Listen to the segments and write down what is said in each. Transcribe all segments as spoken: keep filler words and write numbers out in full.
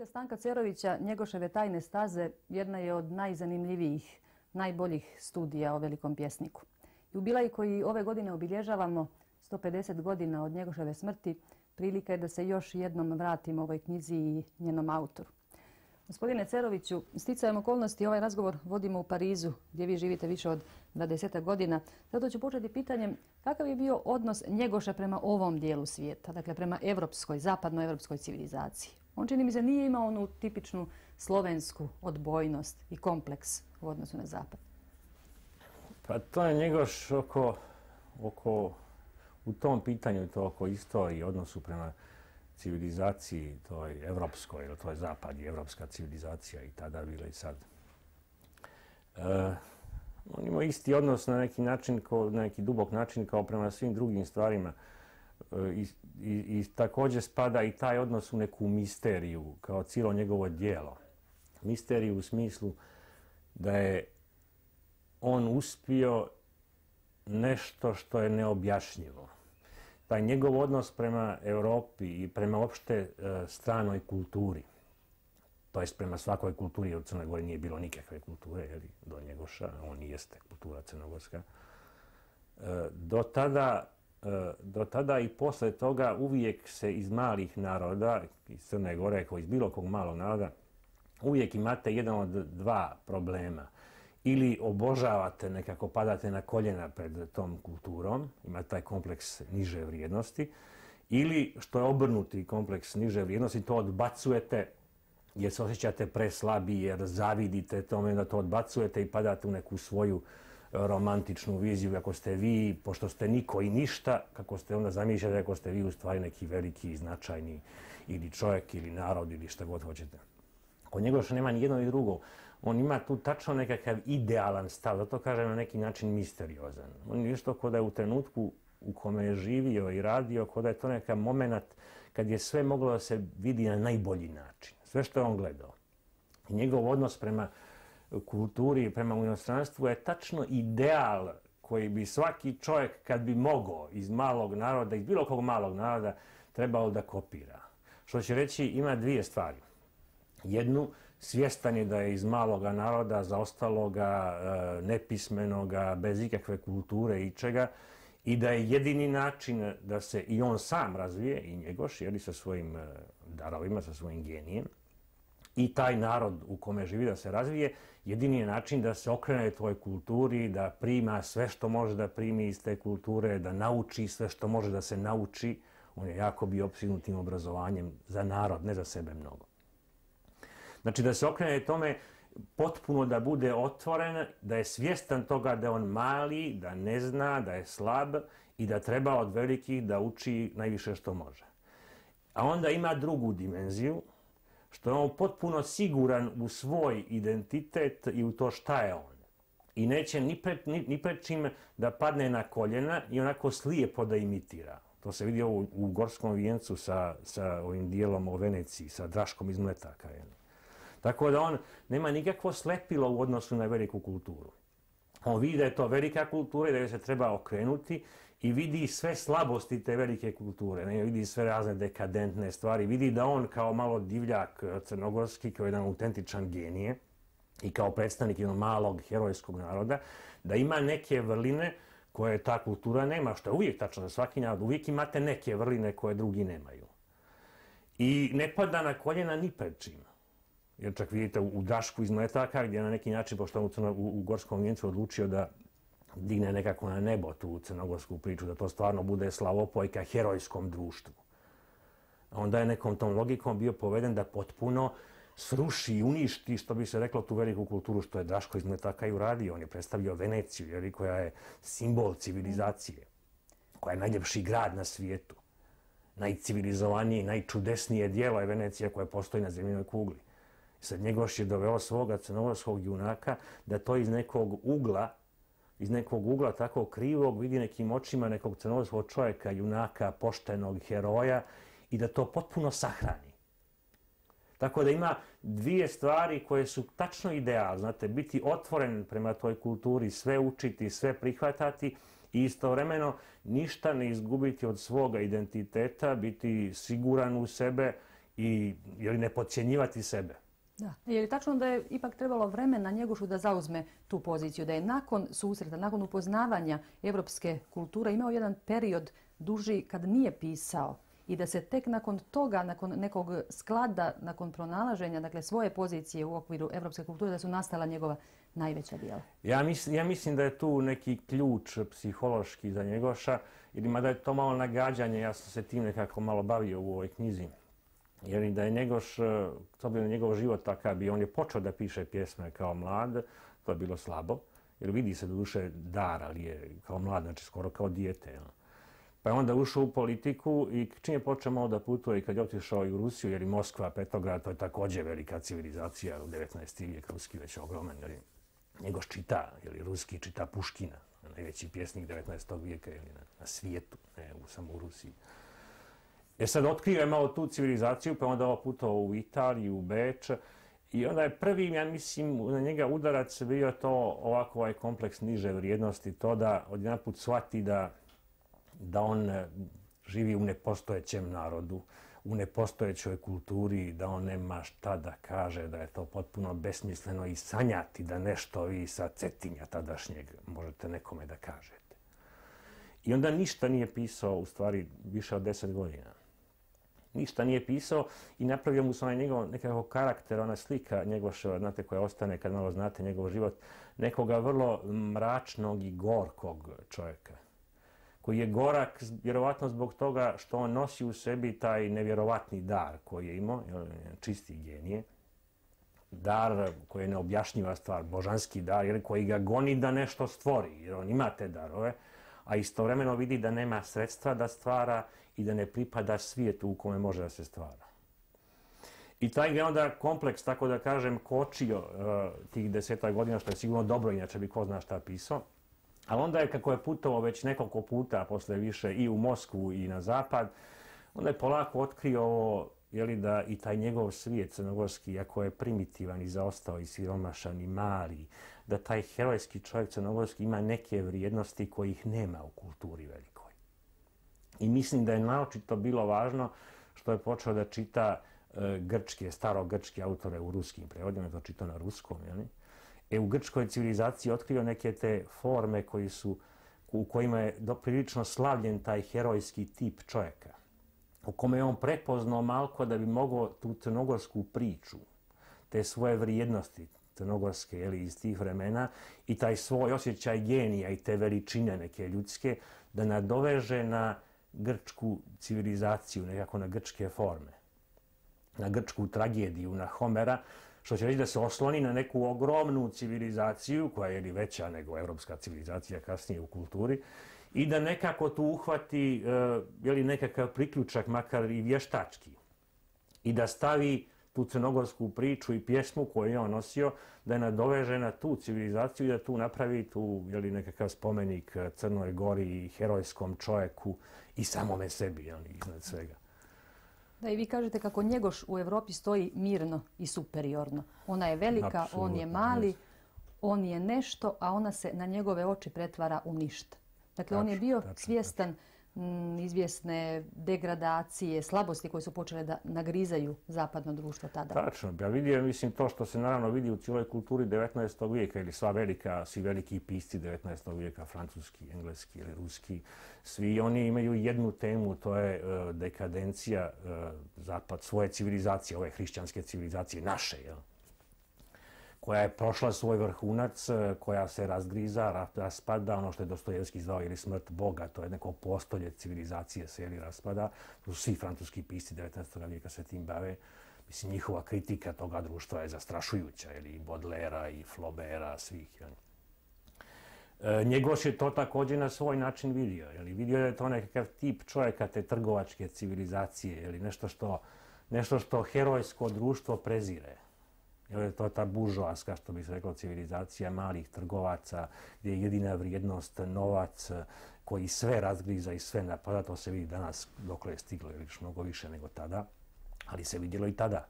Stanka Cerovića, Njegoševe tajne staze jedna je od najzanimljivijih, najboljih studija o velikom pjesniku. Jubilej koji ove godine obilježavamo, sto pedeset godina od Njegoševe smrti, prilika je da se još jednom vratimo ovoj knjizi i njenom autoru. Gospodine Ceroviću, sticajem okolnosti ovaj razgovor vodimo u Parizu, gdje vi živite više od dvadeset godina. Zato ću početi pitanjem kakav je bio odnos Njegoša prema ovom dijelu svijeta, dakle prema evropskoj, zapadnoevropskoj civilizaciji. On, čini mi se, nije imao onu tipičnu slovensku odbojnost i kompleks u odnosu na zapad. Pa to je Njegoš oko, oko u tom pitanju, to oko istoriji, odnosu prema civilizaciji, toj evropskoj, ili to je zapad i evropska civilizacija i tada bila i sad. E, on ima isti odnos na neki način, ko, na neki dubok način kao prema svim drugim stvarima. E, i, i, I također spada i taj odnos u neku misteriju, kao cijelo njegovo djelo. Misteriju u smislu da je on uspio nešto što je neobjašnjivo. Taj njegov odnos prema Europi i prema opšte e, stranoj kulturi, to jest prema svakoj kulturi, od Crne Gore nije bilo nikakve kulture, jeli, do Njegoša, on i jeste kultura crnogorska. E, do, tada, e, do tada i posle toga uvijek se iz malih naroda, iz Crne Gore, kao iz bilo kog malog naroda, uvijek imate jedan od dva problema. Ili obožavate, nekako padate na koljena pred tom kulturom, ima taj kompleks niže vrijednosti, ili što je obrnuti kompleks niže vrijednosti, to odbacujete jer se osjećate preslabi, jer zavidite tome da to odbacujete i padate u neku svoju romantičnu viziju kako ste vi, pošto ste niko i ništa, kako ste onda zamišljate kako ste vi u stvari neki veliki, značajni ili čovjek ili narod ili šta god hoćete. Kod Njegoša nema ni jedno ni drugo. On ima tu tačno nekakav idealan stav, zato kažem na neki način misteriozan. On je isto kod da je u trenutku u kome je živio i radio, kod da je to nekakav moment kad je sve moglo da se vidi na najbolji način. Sve što je on gledao. I njegov odnos prema kulturi i prema inostranstvu je tačno ideal koji bi svaki čovjek, kad bi mogao iz malog naroda, iz bilo kog malog naroda, trebao da kopira. Što će reći, ima dvije stvari. Jednu, svjestan je da je iz maloga naroda, zaostaloga, nepismenoga, bez ikakve kulture i čega, i da je jedini način da se i on sam razvije, i Njegoš, jeli, sa svojim darovima, sa svojim genijem, i taj narod u kome živi da se razvije, jedini je način da se okrene toj kulturi, da prima sve što može da primi iz te kulture, da nauči sve što može da se nauči. On je jako bio opsjednut obrazovanjem za narod, ne za sebe mnogo. Znači da se okrene tome potpuno da bude otvoren, da je svjestan toga da je on mali, da ne zna, da je slab i da treba od velikih da uči najviše što može. A onda ima drugu dimenziju, što je on potpuno siguran u svoj identitet i u to šta je on. I neće ni pred, ni, ni pred čim da padne na koljena i onako slijepo da imitira. To se vidi u, u Gorskom vijencu sa, sa ovim dijelom o Veneciji, sa Draškom iz Mletaka. Jel? Tako da on nema nikakvo slepilo u odnosu na veliku kulturu. On vidi da je to velika kultura i da joj se treba okrenuti i vidi sve slabosti te velike kulture. Ne? Vidi sve razne dekadentne stvari. Vidi da on kao malo divljak crnogorski, kao jedan autentičan genije i kao predstavnik jednog malog herojskog naroda, da ima neke vrline koje ta kultura nema, što je uvijek tačno za svaki narod. Uvijek imate neke vrline koje drugi nemaju. I ne pada na koljena ni pred čim. Jer čak vidite u Drašku iz Mletaka, gdje je na neki način, pošto on u, u Gorskom vijencu odlučio da digne nekako na nebo tu crnogorsku priču, da to stvarno bude slavopojka herojskom društvu. A onda je nekom tom logikom bio poveden da potpuno sruši i uništi, što bi se reklo, tu veliku kulturu što je Draško iz Mletaka i uradio. On je predstavio Veneciju, jeli, koja je simbol civilizacije, koja je najljepši grad na svijetu. Najcivilizovanije, najčudesnije dijelo je Venecija koja postoji na zemljinoj kugli. Sad Njegoš je doveo svoga crnogorskog junaka da to iz nekog ugla, iz nekog ugla tako krivog vidi nekim očima nekog crnogorskog čovjeka, junaka, poštenog heroja i da to potpuno sahrani. Tako da ima dvije stvari koje su tačno ideal, znate, biti otvoren prema toj kulturi, sve učiti, sve prihvatati i istovremeno ništa ne izgubiti od svoga identiteta, biti siguran u sebe i jeli, ne podcjenjivati sebe. Da. Je li tačno da je ipak trebalo vremena Njegošu da zauzme tu poziciju, da je nakon susreta, nakon upoznavanja evropske kulture imao jedan period duži kad nije pisao i da se tek nakon toga, nakon nekog sklada, nakon pronalaženja dakle, svoje pozicije u okviru evropske kulture, da su nastala njegova najveća djela? Ja, mis, ja mislim da je tu neki ključ psihološki za Njegoša, jer mada je to malo nagađanje, ja sam se tim nekako malo bavio u ovoj knjizi. Jer da je Njegoš, s obzirom na njegov život takav bi, on je počeo da piše pjesme kao mlad, to je bilo slabo, jer vidi se do duše dar, ali je kao mlad, znači skoro kao dijete. Pa je onda ušao u politiku i čim je počeo malo da putuje i kad je otišao i u Rusiju, jer i Moskva, Petrograd, to je također velika civilizacija u devetnaesti vijek, ruski već ogroman, jer Njegoš čita, jer ruski čita Puškina, najveći pjesnik devetnaestog vijeka ili na, na svijetu, ne u, samo u Rusiji. E sad otkrio je malo tu civilizaciju, pa onda ovo putovao u Italiju, u Beč. I onda je prvi, ja mislim, na njega udarac bio to ovako ovaj kompleks niže vrijednosti, to da odjedanput shvati da, da on živi u nepostojećem narodu, u nepostojećoj kulturi, da on nema šta da kaže, da je to potpuno besmisleno i sanjati da nešto vi sa Cetinja tadašnjeg možete nekome da kažete. I onda ništa nije pisao, u stvari, više od deset godina. Ništa nije pisao i napravio mu se onaj njegov nekako karakter, ona slika Njegoševa, znate, koja ostane kad malo znate njegov život, nekoga vrlo mračnog i gorkog čovjeka. Koji je gorak vjerovatno zbog toga što on nosi u sebi taj nevjerovatni dar koji je imao, čisti genije. Dar koji je neobjašnjiva stvar, božanski dar, jer koji ga goni da nešto stvori, jer on ima te darove, a istovremeno vidi da nema sredstva da stvara i da ne pripada svijetu u kome može da se stvara. I taj je onda kompleks, tako da kažem, kočio uh, tih desetak godina, što je sigurno dobro, inače bi ko zna šta pisao. Ali onda je, kako je putovao već nekoliko puta, posle više i u Moskvu i na zapad, onda je polako otkrio ovo, jeli, da i taj njegov svijet crnogorski, iako je primitivan i zaostao i siromašan i mali, da taj herojski čovjek crnogorski ima neke vrijednosti kojih nema u kulturi velikoj. I mislim da je naočito bilo važno što je počeo da čita e, grčke, starogrčke autore u ruskim prevodima, je to čitao na ruskom, jeli? E, u grčkoj civilizaciji otkrio neke te forme koji su, u kojima je prilično slavljen taj herojski tip čovjeka, u kome je on prepoznao malko da bi mogao tu crnogorsku priču, te svoje vrijednosti crnogorske, jeli, iz tih vremena i taj svoj osjećaj genija i te veličine neke ljudske da nadoveže na grčku civilizaciju, nekako na grčke forme, na grčku tragediju, na Homera, što će reći da se osloni na neku ogromnu civilizaciju, koja je li veća nego evropska civilizacija kasnije u kulturi, i da nekako tu uhvati uh, je li nekakav priključak, makar i vještački, i da stavi tu crnogorsku priču i pjesmu koju je on nosio, da je nadoveže na tu civilizaciju i da tu napravi tu, je li, nekakav spomenik Crnoj Gori, herojskom čovjeku i samome sebi, je li, iznad svega. Da, i vi kažete kako Njegoš u Evropi stoji mirno i superiorno. Ona je velika, Apsolutno, on je mali, jest. on je nešto, a ona se na njegove oči pretvara u ništa. Dakle, tačno, on je bio tačno, svjestan m, izvjesne degradacije, slabosti koje su počele da nagrizaju zapadno društvo tada. Tačno. Ja vidio, mislim, to što se naravno vidi u cijeloj kulturi devetnaestog vijeka, ili sva velika, svi veliki pisci devetnaestog vijeka, francuski, engleski ili ruski, svi oni imaju jednu temu, to je uh, dekadencija uh, zapad, svoje civilizacije, ove hrišćanske civilizacije, naše, jel? Koja je prošla svoj vrhunac, koja se razgriza, raspada, ono što je Dostojevski zvao ili smrt Boga, to je neko postolje civilizacije se ili raspada. To su svi francuski pisci devetnaestog vijeka se tim bave. Mislim, njihova kritika toga društva je zastrašujuća, ili i Baudelaira i Flaubera, svih. Jel? E, Njegoš je to također na svoj način vidio. Jel? Vidio je to nekakav tip čovjeka te trgovačke civilizacije, ili nešto što, nešto što herojsko društvo prezire. Jer je to ta buržoaska, što bi se reklo, civilizacija malih trgovaca, gdje je jedina vrijednost novac koji sve razgriza i sve napada. To se vidi danas dokle je stiglo, jer još mnogo više nego tada, ali se vidjelo i tada.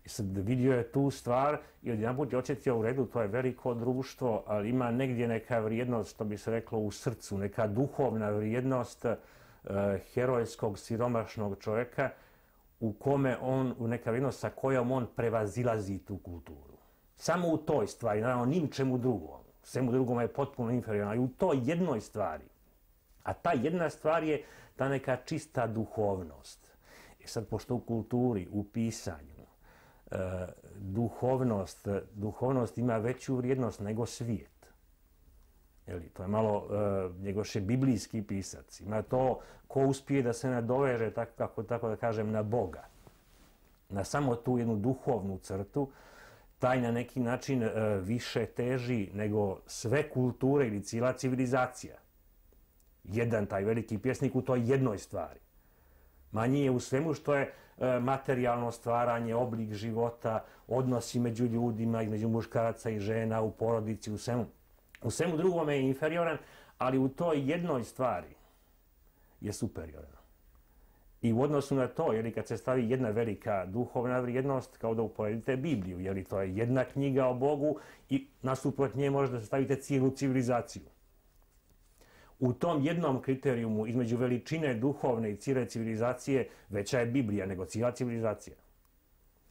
I sad vidio je tu stvar i odjedanput je osjetio u redu, to je veliko društvo, ali ima negdje neka vrijednost, što bi se reklo, u srcu, neka duhovna vrijednost uh, herojskog, siromašnog čovjeka, u kome on, u neka vrijednost sa kojom on prevazilazi tu kulturu. Samo u toj stvari, naravno, ni u čemu drugom. Svemu drugom je potpuno inferiorno, ali u toj jednoj stvari. A ta jedna stvar je ta neka čista duhovnost. I sad, pošto u kulturi, u pisanju, e, duhovnost, duhovnost ima veću vrijednost nego svijet. Jeli, to je malo, e, Njegoš je biblijski pisac. Ima to ko uspije da se nadoveže, tako, kako, tako da kažem, na Boga. Na samo tu jednu duhovnu crtu, taj na neki način e, više teži nego sve kulture ili cijela civilizacija. Jedan taj veliki pjesnik u toj jednoj stvari. Manji je u svemu što je e, materijalno stvaranje, oblik života, odnosi među ljudima, između muškaraca i žena, u porodici, u svemu. U svemu drugome je inferioran, ali u toj jednoj stvari je superioran. I u odnosu na to, jer kad se stavi jedna velika duhovna vrijednost, kao da uporedite Bibliju, jer to je jedna knjiga o Bogu i nasuprot nje možete stavite cijelu civilizaciju. U tom jednom kriterijumu između veličine duhovne i cijele civilizacije veća je Biblija nego cijela civilizacija.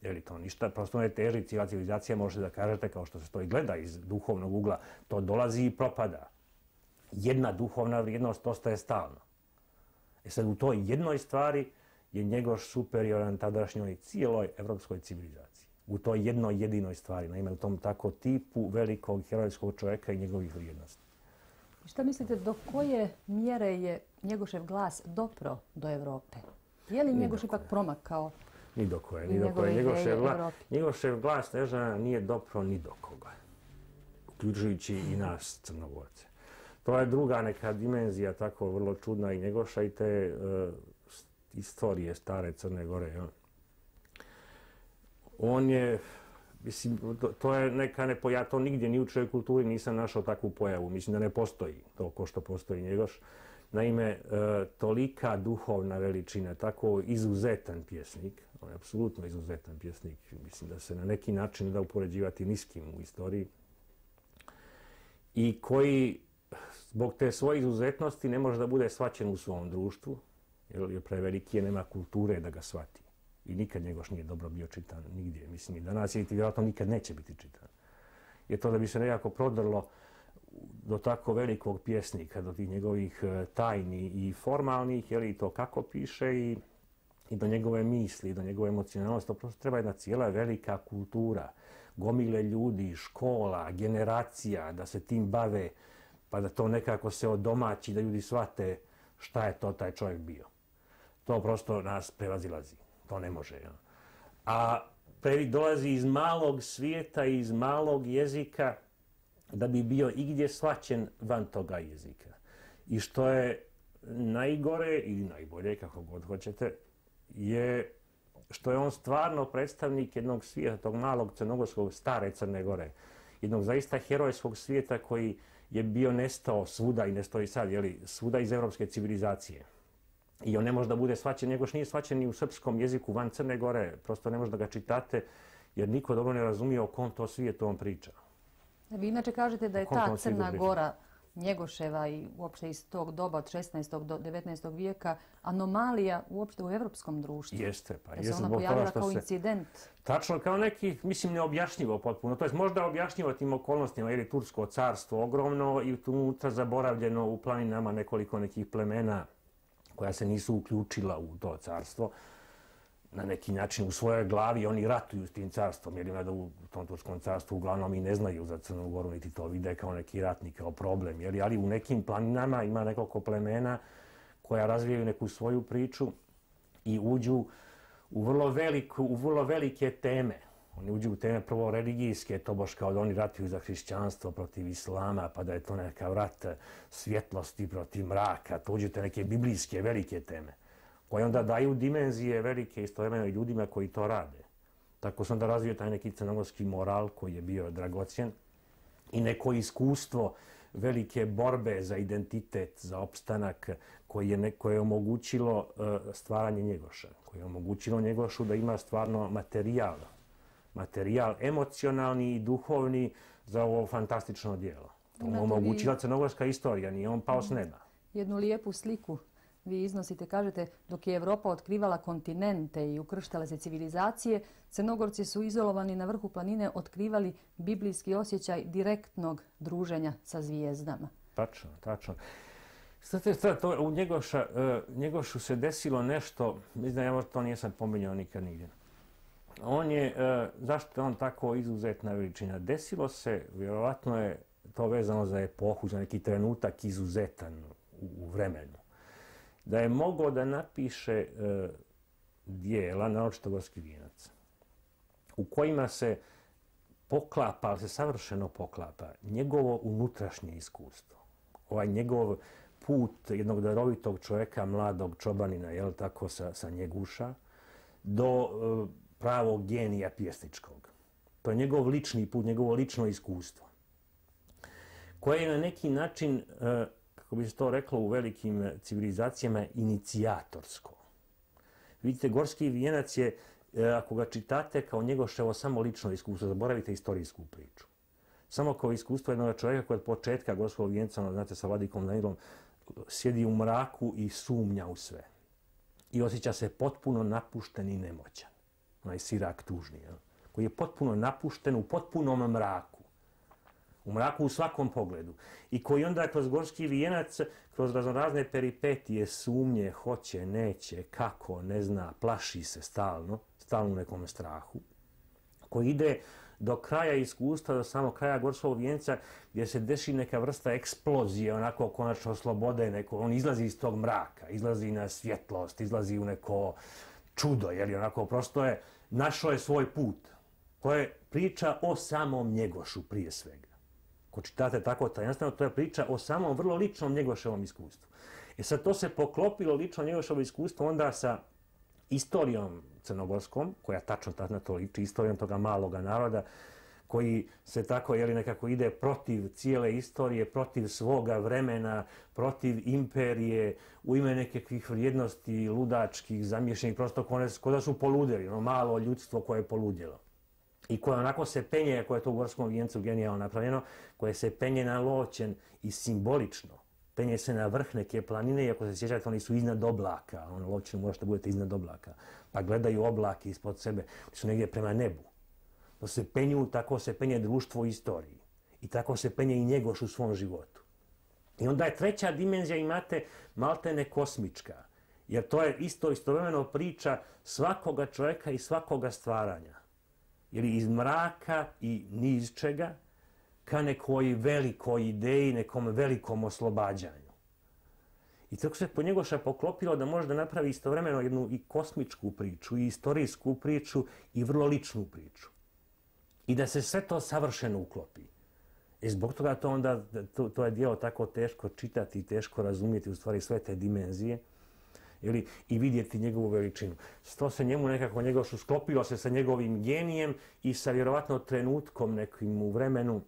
Jer to ništa, prosto ne teži, cijela civilizacija možete da kažete, kao što se to i gleda iz duhovnog ugla, to dolazi i propada. Jedna duhovna vrijednost ostaje stalno. E sad u toj jednoj stvari je Njegoš superioran tadašnjoj cijeloj evropskoj civilizaciji. U toj jednoj jedinoj stvari, naime u tom tako tipu velikog herojskog čovjeka i njegovih vrijednosti. Šta mislite, do koje mjere je Njegošev glas dopro do Evrope? Je li Njegoš ipak promakao? Ni do koje, ni do koje. Njegošev, gla, Njegošev glas Nežana nije dopro ni do koga, uključujući i nas Crnogorce. To je druga neka dimenzija, tako vrlo čudna i Njegoša i te uh, istorije stare Crne Gore. Ja. On je, mislim, to, to je neka nepo, ja to nigdje ni u čovjek kulturi nisam našao takvu pojavu. Mislim da ne postoji to ko što postoji Njegoš. Naime, uh, tolika duhovna veličina, tako izuzetan pjesnik, on je apsolutno izuzetan pjesnik, mislim da se na neki način da upoređivati ni s kim u istoriji, i koji zbog te svoje izuzetnosti ne može da bude shvaćen u svom društvu, jer je preveliki, je nema kulture da ga shvati. I nikad Njegoš nije dobro bio čitan nigdje. Mislim, i danas je i vjerojatno nikad neće biti čitan. Je to da bi se nekako prodrlo do tako velikog pjesnika, do tih njegovih tajni i formalnih, jer i to kako piše i, i do njegove misli, do njegove emocionalnosti. To prosto treba jedna cijela velika kultura, gomile ljudi, škola, generacija, da se tim bave, pa da to nekako se odomaći, da ljudi shvate šta je to taj čovjek bio. To prosto nas prevazilazi. To ne može. Ja. A previ dolazi iz malog svijeta, iz malog jezika, da bi bio igdje shvaćen van toga jezika. I što je najgore ili najbolje, kako god hoćete, je što je on stvarno predstavnik jednog svijeta, tog malog crnogorskog, stare Crne Gore. Jednog zaista herojskog svijeta koji je bio nestao svuda i nestao i sad, jeli, svuda iz evropske civilizacije. I on ne može da bude shvaćen, Njegoš nije shvaćen ni u srpskom jeziku van Crne Gore. Prosto ne može da ga čitate, jer niko dobro ne razumije o kom to svijetu on priča. Vi inače kažete da je ta Crna Gora Njegoševa i uopšte iz tog doba od šesnaestog do devetnaestog vijeka anomalija uopšte u evropskom društvu. Jeste, pa jeste. Da se ona pojavila kao incident. Tačno, kao neki, mislim, neobjašnjivo potpuno. To je možda objašnjivo tim okolnostima, jer je Tursko carstvo ogromno i unutra zaboravljeno u planinama nekoliko nekih plemena koja se nisu uključila u to carstvo. Na neki način u svojoj glavi oni ratuju s tim carstvom, jer ima da u tom Turskom carstvu uglavnom i ne znaju za Crnu Goru, niti to vide kao neki ratnik, kao problem. Jer, ali u nekim planinama ima nekoliko plemena koja razvijaju neku svoju priču i uđu u vrlo, veliku, u vrlo velike teme. Oni uđu u teme prvo religijske, to baš kao da oni ratuju za hrišćanstvo protiv islama, pa da je to neka rat svjetlosti protiv mraka. To uđu te neke biblijske velike teme, koje onda daju dimenzije velike istovremeno i ljudima koji to rade. Tako se onda razvio taj neki crnogorski moral koji je bio dragocjen i neko iskustvo velike borbe za identitet, za opstanak, koje je, ne, koje je omogućilo uh, stvaranje Njegoša, koje je omogućilo Njegošu da ima stvarno materijal, materijal emocionalni i duhovni za ovo fantastično djelo. To mu omogućila crnogorska istorija, nije on pao s neba. Jednu lijepu sliku vi iznosite, kažete, dok je Evropa otkrivala kontinente i ukrštale se civilizacije, Crnogorci su izolovani na vrhu planine otkrivali biblijski osjećaj direktnog druženja sa zvijezdama. Tačno, tačno. Znate šta, to, u Njegoša, uh, Njegošu se desilo nešto, mislim, ja to nisam pominjao nikad nigdje. On je, uh, zašto je on tako izuzetna veličina? Desilo se, vjerovatno je to vezano za epohu, za neki trenutak izuzetan u, u vremenu. Da je mogao da napiše uh, dijela, naročito Gorski vijenac, u kojima se poklapa, ali se savršeno poklapa, njegovo unutrašnje iskustvo. Ovaj njegov put jednog darovitog čovjeka, mladog čobanina, jel tako, sa, sa Njeguša, do uh, pravog genija pjesničkog. To je njegov lični put, njegovo lično iskustvo, koje je na neki način, uh, kako bi se to reklo u velikim civilizacijama, inicijatorsko. Vidite, Gorski vijenac je, uh, ako ga čitate kao Njegoševo samo lično iskustvo, zaboravite istorijsku priču. Samo kao iskustvo jednog čovjeka koji od početka Gorskog vijenca, znate, sa vladikom Danilom, sjedi u mraku i sumnja u sve. I osjeća se potpuno napušten i nemoćan. Onaj sirak tužni, jel? Koji je potpuno napušten u potpunom mraku. U mraku u svakom pogledu. I koji onda kroz Gorski vijenac, kroz raznorazne peripetije, sumnje, hoće, neće, kako, ne zna, plaši se stalno, stalno u nekom strahu. Koji ide do kraja iskustva, do samog kraja Gorskog vijenca, gdje se desi neka vrsta eksplozije, onako konačno slobode, neko, on izlazi iz tog mraka, izlazi na svjetlost, izlazi u neko čudo, jer onako prosto je, našao je svoj put. To je priča o samom Njegošu prije svega. Ko čitate tako tajanstveno, to je priča o samom vrlo ličnom Njegoševom iskustvu. I sad to se poklopilo lično Njegoševo iskustvo onda sa istorijom crnogorskom, koja tačno na to liči, istorijom toga maloga naroda, koji se tako, jeli, nekako ide protiv cijele istorije, protiv svoga vremena, protiv imperije, u ime nekakvih vrijednosti ludačkih, zamješenih, prosto ko da su poludjeli, ono malo ljudstvo koje je poludjelo. I koje onako se penje, koje je to u Gorskom vijencu genijalno napravljeno, koje se penje na loćen i simbolično. Penje se na vrh neke planine i ako se sjećate, oni su iznad oblaka. Ono, loćeno možete budete iznad oblaka. Pa gledaju oblake ispod sebe. Oni su negdje prema nebu. To se penju, tako se penje društvo u istoriji. I tako se penje i Njegoš u svom životu. I onda je treća dimenzija, imate maltene kosmička. Jer to je isto istovremeno priča svakoga čovjeka i svakoga stvaranja. Jer iz mraka i niz čega ka nekoj velikoj ideji, nekom velikom oslobađanju. I tako se po Njegoša poklopilo da može da napravi istovremeno jednu i kosmičku priču, i istorijsku priču, i vrlo ličnu priču. I da se sve to savršeno uklopi. I zbog toga to onda, to, to je djelo tako teško čitati i teško razumjeti u stvari sve te dimenzije, ili, i vidjeti njegovu veličinu. To se njemu nekako Njegošu sklopilo se sa njegovim genijem i sa vjerovatno trenutkom nekim u vremenu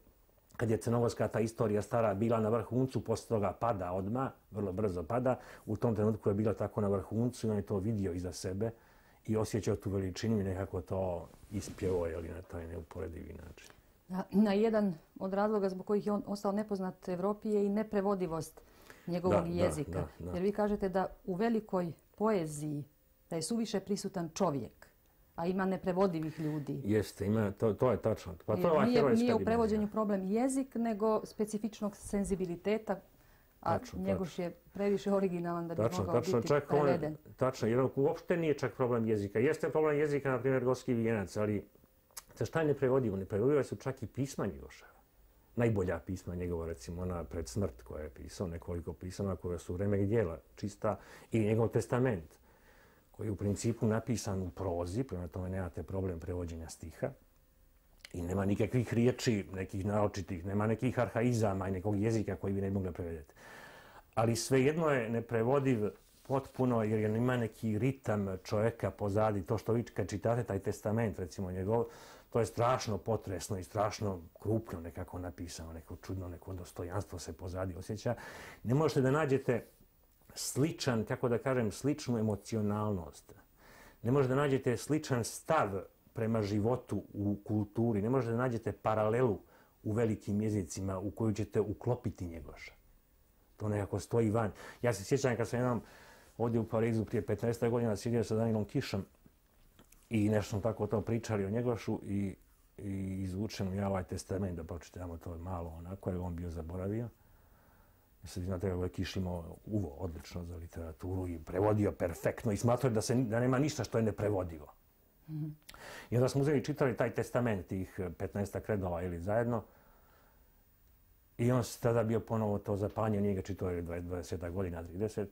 kad je crnogorska ta istorija stara bila na vrhuncu, poslije toga pada odmah, vrlo brzo pada, u tom trenutku je bila tako na vrhuncu i on je to vidio iza sebe i osjećao tu veličinu i nekako to ispjevao, jeli, na taj neuporedivi način. Na, na jedan od razloga zbog kojih je on ostao nepoznat Evropi je i neprevodivost njegovog da, jezika. Da, da, da. Jer vi kažete da u velikoj poeziji da je suviše prisutan čovjek, a ima neprevodivih ljudi. Jeste, ima, to, to je tačno. Pa to je nije, nije u prevođenju problem jezik, nego specifičnog senzibiliteta, a tačno, Njegoš tačno. je previše originalan da bi tačno, mogao tačno, biti čak preveden. On, tačno, jer uopšte nije čak problem jezika. Jeste problem jezika, na primjer, Gorski vijenac, ali šta je neprevodivo? Neprevodivo su čak i pisma Njegoševa. Najbolja pisma njegova, recimo ona pred smrt koja je pisao, nekoliko pisama koja su vremenih djela čista, i njegov testament, koji je u principu napisan u prozi, prema tome nemate problem prevođenja stiha i nema nikakvih riječi, nekih naočitih, nema nekih arhaizama i nekog jezika koji bi ne mogli prevedeti. Ali svejedno je neprevodiv potpuno jer ima neki ritam čovjeka pozadi. To što vi kad čitate taj testament, recimo njegov, to je strašno potresno i strašno krupno nekako napisano, neko čudno, neko dostojanstvo se pozadi osjeća. Ne možete da nađete sličan, kako da kažem, sličnu emocionalnost. Ne možete da nađete sličan stav prema životu u kulturi. Ne možete da nađete paralelu u velikim jezicima u koju ćete uklopiti Njegoša. To nekako stoji van. Ja se sjećam kad sam jednom ovdje u Parizu prije petnaest godina sjedio sa Danilom Kišom i nešto smo tako o tom pričali o Njegošu i, i izvučem ja ovaj testament da pročitamo to malo onako, jer on bio zaboravio. Sad znate kako je Kiš imao uvo odlično za literaturu i prevodio perfektno i smatrao da, se, da nema ništa što je neprevodivo. Mm-hmm. I onda smo uzeli i čitali taj testament tih petnaest redova ili zajedno. I on se tada bio ponovo to zapanje, nije ga čitao je dvadeset godina, trideset.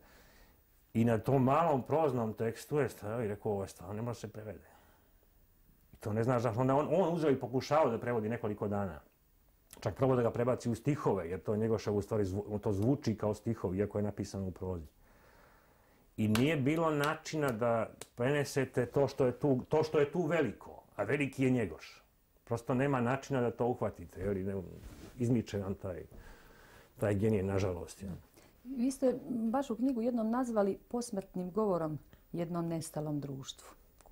I na tom malom proznom tekstu je stavio i rekao, ovo je stvarno ne može se prevede. I to ne znaš zašto. Onda on, on uzeo i pokušao da prevodi nekoliko dana. Čak probao da ga prebaci u stihove, jer to Njegošev u stvari zvu, to zvuči kao stihovi, iako je napisano u prozi. I nije bilo načina da prenesete to što je tu, to što je tu veliko, a veliki je Njegoš. Prosto nema načina da to uhvatite, jer ne, izmiče nam taj, taj genije, nažalost. Ja. Vi ste vašu knjigu jednom nazvali posmrtnim govorom jednom nestalom društvu.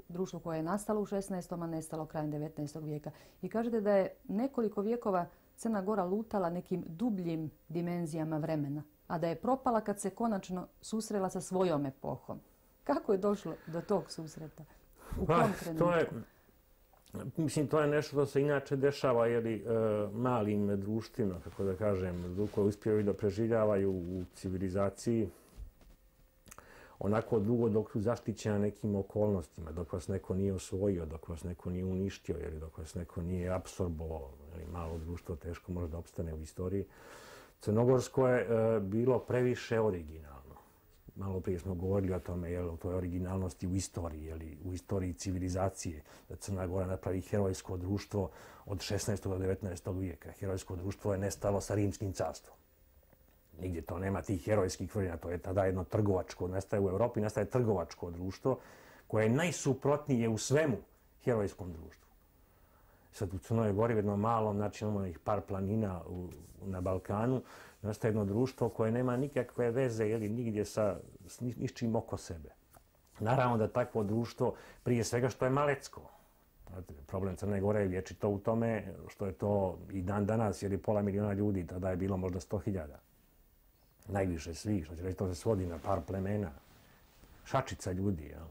Društvo koje je nastalo u šesnaestom. a nestalo krajem devetnaestog vijeka. I kažete da je nekoliko vijekova Crna Gora lutala nekim dubljim dimenzijama vremena, a da je propala kad se konačno susrela sa svojom epohom. Kako je došlo do tog susreta? U pa, kom trenutku? To je, mislim, to je nešto što se inače dešava jeli, e, malim društvima, kako da kažem, koje uspijevaju da preživljavaju u civilizaciji onako dugo dok su zaštićeni nekim okolnostima, dok vas neko nije osvojio, dok vas neko nije uništio, ili dok vas neko nije apsorbovao. Malo društvo teško može da opstane u istoriji. Crnogorsko je e, bilo previše originalno. Malo prije smo govorili o tome, jel, o toj originalnosti u istoriji, jeli, u istoriji civilizacije, da Crna Gora napravi herojsko društvo od šesnaestog. do devetnaestog vijeka. Herojsko društvo je nestalo sa Rimskim carstvom. Nigdje to nema tih herojskih vrlina, to je tada jedno trgovačko, nastaje u Europi, nastaje trgovačko društvo koje je najsuprotnije u svemu herojskom društvu. Sad u Crnoj Gori, u jednom malom, znači imamo ih par planina u, na Balkanu, nastaje jedno društvo koje nema nikakve veze ili nigdje sa ničim oko sebe. Naravno da takvo društvo, prije svega što je malecko. Problem Crne Gore je vječito u tome što je to i dan danas, jer je pola miliona ljudi, tada je bilo možda sto hiljada. Najviše svih, što će reći, to se svodi na par plemena. Šačica ljudi, jel?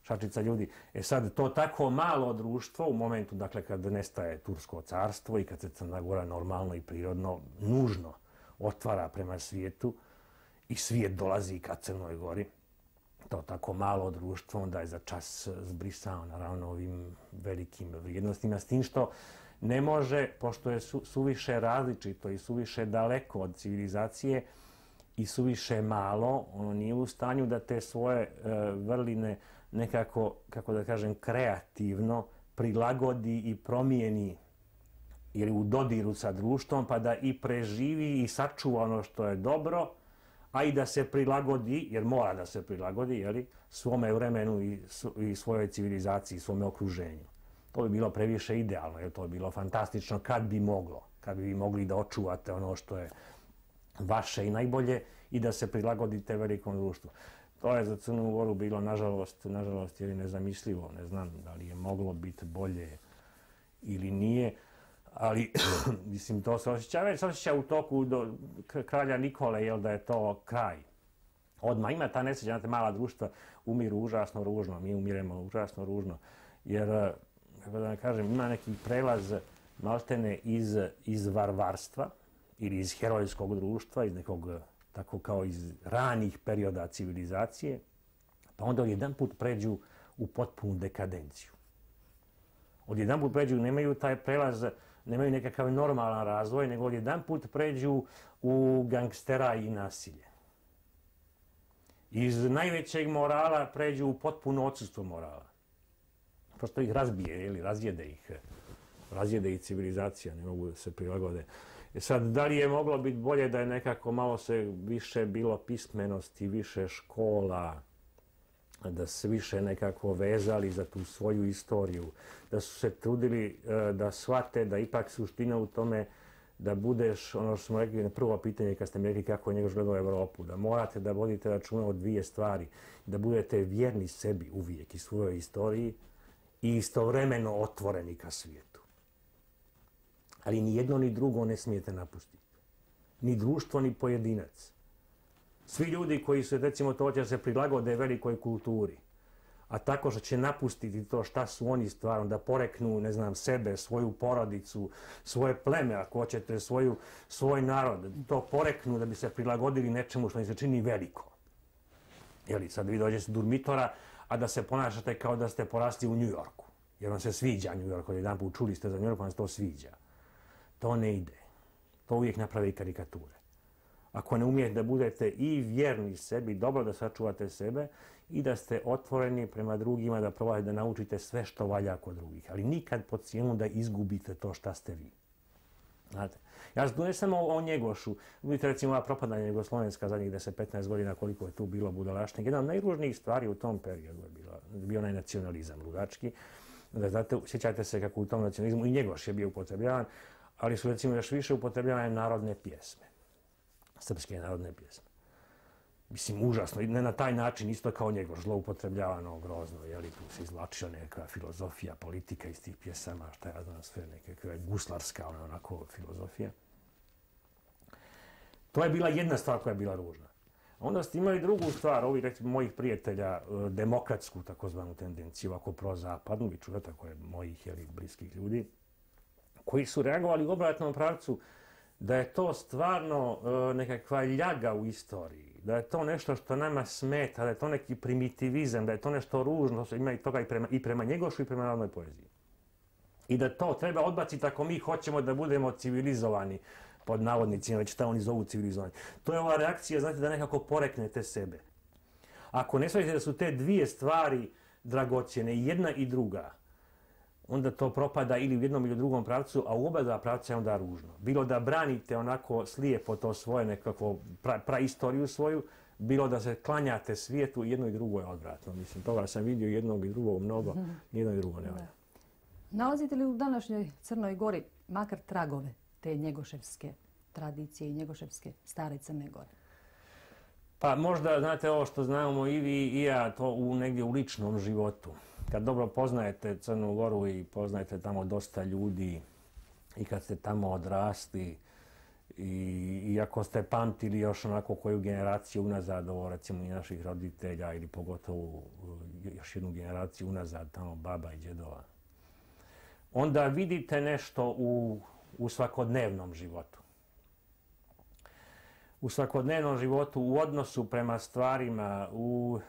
Šačica ljudi. E sad, to tako malo društvo u momentu, dakle, kad nestaje Tursko carstvo i kad se Crna Gora normalno i prirodno, nužno otvara prema svijetu i svijet dolazi ka Crnoj Gori, to tako malo društvo onda je za čas zbrisao, naravno, ovim velikim vrijednostima, s tim što ne može, pošto je su, suviše različito i suviše daleko od civilizacije i suviše malo, ono nije u stanju da te svoje e, vrline nekako, kako da kažem, kreativno prilagodi i promijeni ili u dodiru sa društvom, pa da i preživi i sačuva ono što je dobro, a i da se prilagodi, jer mora da se prilagodi, jeli, svome vremenu i, i svojoj civilizaciji, svome okruženju. To bi bilo previše idealno, jer to bi bilo fantastično kad bi moglo, kad bi mogli da očuvate ono što je vaše i najbolje i da se prilagodite velikom društvu. To je za Crnu Goru bilo, nažalost, nažalost, jer je nezamislivo. Ne znam da li je moglo biti bolje ili nije, ali mislim, to se osjeća, već se osjeća u toku do kralja Nikole, jel, da je to kraj. Odmah ima ta nesreća, znate, mala društva umiru užasno ružno, mi umiremo užasno ružno, jer, kako da kažem, ima neki prelaz maltene iz, iz varvarstva ili iz herojskog društva, iz nekog, tako kao iz ranih perioda civilizacije, pa onda jedan put pređu u potpunu dekadenciju. Odjedan put pređu, nemaju taj prelaz, nemaju nekakav normalan razvoj, nego odjedan put pređu u gangstera i nasilje. Iz najvećeg morala pređu u potpuno odsustvo morala. Prosto ih razbije, ili razjede ih, razjede ih civilizacija, ne mogu da se prilagode. E sad, da li je moglo biti bolje da je nekako malo se više bilo pismenosti, više škola, da se više nekako vezali za tu svoju istoriju, da su se trudili da shvate da ipak suština u tome da budeš, ono što smo rekli na prvo pitanje kad ste mi rekli kako je Njegoš gledao Evropu, da morate da vodite računa o dvije stvari, da budete vjerni sebi uvijek i svojoj istoriji i istovremeno otvoreni ka svijetu. Ali ni jedno ni drugo ne smijete napustiti. Ni društvo, ni pojedinac. Svi ljudi koji su, recimo, to će se prilagode velikoj kulturi, a tako što će napustiti to šta su oni stvarno, da poreknu, ne znam, sebe, svoju porodicu, svoje pleme, ako hoćete, svoju, svoj narod, to poreknu da bi se prilagodili nečemu što im se čini veliko. Jeli, sad vi dođete s Durmitora, a da se ponašate kao da ste porasli u Njujorku, jer vam se sviđa Njujork, od jedan put čuli ste za Njujork, vam se to sviđa. To ne ide. To uvijek napravi karikature. Ako ne umijete da budete i vjerni sebi, dobro da sačuvate sebe i da ste otvoreni prema drugima, da probate da naučite sve što valja kod drugih, ali nikad pod cijenu da izgubite to šta ste vi. Znate, ja ne samo o Njegošu, vidite recimo ova propadanja Jugoslovenska zadnjih deset do petnaest godina koliko je tu bilo budalaštine. Jedna od najružnijih stvari u tom periodu je bila, bio onaj nacionalizam ludački. Da, znate, sjećate se kako u tom nacionalizmu i Njegoš je bio upotrebljavan, ali su recimo još više upotrebljavane narodne pjesme. Srpske narodne pjesme. Mislim, užasno. I ne na taj način, isto kao Njegoš, zloupotrebljavano, grozno. Jeli, tu se izvlačila neka filozofija, politika iz tih pjesama, šta ja znam, sve nekakve guslarska, ona, onako, filozofija. To je bila jedna stvar koja je bila ružna. Onda ste imali drugu stvar, ovih, recimo, mojih prijatelja, demokratsku, takozvanu tendenciju, ovako prozapadnu, vi čujete, tako je mojih, jeli, bliskih ljudi, koji su reagovali u obratnom pravcu da je to stvarno e, nekakva ljaga u istoriji, da je to nešto što nama smeta, da je to neki primitivizam, da je to nešto ružno, ima i toga i prema, i prema Njegošu i prema narodnoj poeziji. I da to treba odbaciti ako mi hoćemo da budemo civilizovani, pod navodnicima, već šta oni zovu civilizovani. To je ova reakcija, znate, da nekako poreknete sebe. Ako ne shvatite da su te dvije stvari dragocjene, jedna i druga, onda to propada ili u jednom ili u drugom pravcu, a u oba dva pravca je onda ružno. Bilo da branite onako slijepo to svoje nekakvo pra, praistoriju svoju, bilo da se klanjate svijetu, jedno i drugo je odvratno. Mislim, toga sam vidio jednog i drugog mnogo, jedno i drugo ne valja. Nalazite li u današnjoj Crnoj Gori makar tragove te njegoševske tradicije i njegoševske stare Crne Gore? Pa možda, znate, ovo što znamo i vi i ja, to u negdje u ličnom životu. Kad dobro poznajete Crnu Goru i poznajete tamo dosta ljudi i kad ste tamo odrasli i, i ako ste pamtili još onako koju generaciju unazad, ovo recimo i naših roditelja ili pogotovo još jednu generaciju unazad, tamo baba i djedova, onda vidite nešto u, u svakodnevnom životu. U svakodnevnom životu, u odnosu prema stvarima, u